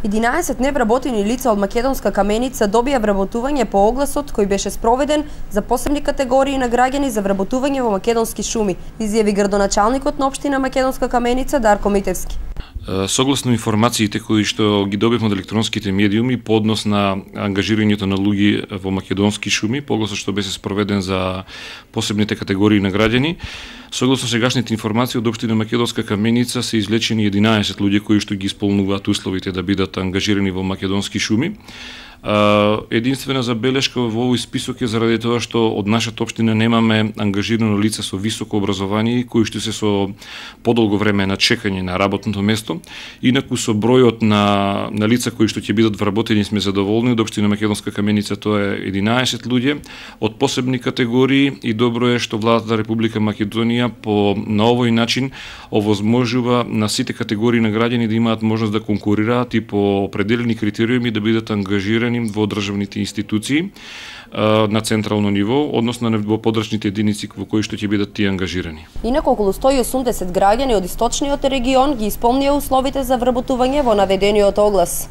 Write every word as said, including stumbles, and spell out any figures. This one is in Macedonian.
единаесет невработени лица од Македонска Каменица добија вработување по огласот кој беше спроведен за посебни категории на граѓани за вработување во македонски шуми, изјави градоначалникот на општина Македонска Каменица Дарко Митевски. Согласно информациите кои што ги добивме од електронските медиуми по однос на ангажирањето на луѓе во македонски шуми, по огласот што беше спроведен за посебните категории на граѓани, согласно сегашните информации од општина Македонска Каменица се излечени единаесет луѓе кои што ги исполнуваат условите да бидат ангажирани во македонски шуми. Единствена забелешка во овој список е заради тоа што од нашата општина немаме ангажирано лице со високо образование кои што се со подолго време на чекање на работното место. Инаку со бројот на на лица кои што ќе бидат вработени сме задоволни. Од општина Македонска Каменица тоа е единаесет луѓе од посебни категории и добро е што владата на Република Македонија по на овој начин овозможува на сите категории на граѓани да имаат можност да конкурираат и по определени критериуми да бидат ангажирани во државните институции на централно ниво, односно во подрачните единици во кои што ќе бидат тие ангажирани. Инаку околу сто и осумдесет граѓани од источниот регион ги исполнија условите за вработување во наведениот оглас.